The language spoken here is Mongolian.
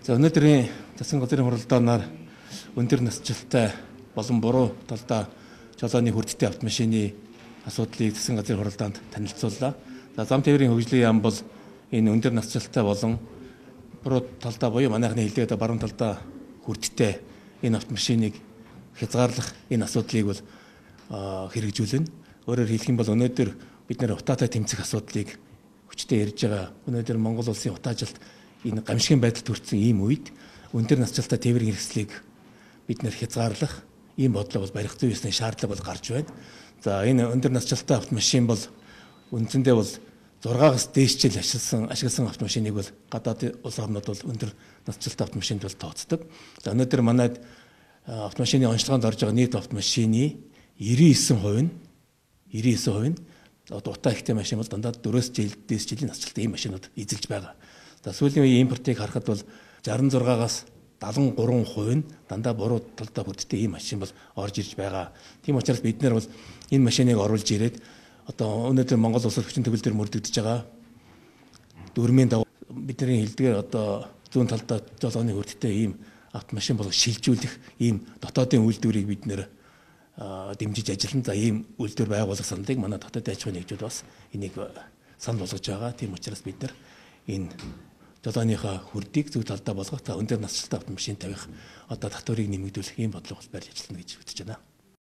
За өнөөдрийн засгийн газрын хуралдаанаар өндөр насжилттай болон буруу талдаа жолооны хүрдтэй автомашины асуудлыг засгийн газрын хуралдаанд танилцууллаа. За зам тээврийн хөгжлийн яам бол энэ өндөр насжилттай болон буруу талдаа буюу манайхны хэлдэгдээ баруун талдаа хүрдтэй энэ автомашиныг хязгаарлах энэ асуудлыг бол хэрэгжүүлнэ. Өөрөөр хэлэх юм бол өнөөдөр бид нэр утаатай тэмцэх асуудлыг хүчтэй ярьж байгаа. Өнөөдөр Монгол улсын утаажилт энэ гамшигын байдалд хүрсэн ийм үед өндөр насжилттай тээврийн хэрэгслийг бид нэр хязгаарлах ийм бодлого бол барих зүй ёсны шаардлага бол гарч байна. За энэ өндөр насжилттай автомашин бол үндсэндээ бол 6-аас дээш жил ашигласан автомашиныг бол гадаад улс орнууд бол өндөр насжилттай автомашинд бол тооцдог. За өнөөдөр манайд автомашины онцлогоонд орж байгаа нийт автомашины 99% нь одоо утаа ихтэй машин бол дандаа 4-өөс дээш жилийн насжилттай ийм машинууд эзэлж байгаа. За сүүлийн үеийн импортыг харахад бол 66-аас 73% нь дандаа буруу талдаа хүрдтэй ийм машин бол орж ирж байгаа. Тийм учраас бид нар бол энэ машиныг оруулж ирээд одоо өнөөдөр Монгол улс хүчин төгөл дээр мөрдөгдөж байгаа дүрмийн дагуу бидний хэлдгээр одоо зүүн талдаа жолооны хүрдтэй ийм автомашин бол шилжүүлэх ийм дотоодын үйлдвэрийг бид нэр дэмжиж ажиллана. За ийм үйлдвэр байгуулах саналыг манай дотоодын аж ахуйн нэгжүүд бас энийг санал болгож байгаа. Тийм учраас бид нар энэ жолооныхаа хүрдийг зөв талдаа болгох, өндөр насжилттай автомашин тавих одоо татварыг нэмэгдүүлэх ийм бодлого барьж ажиллана гэж үзэж байна.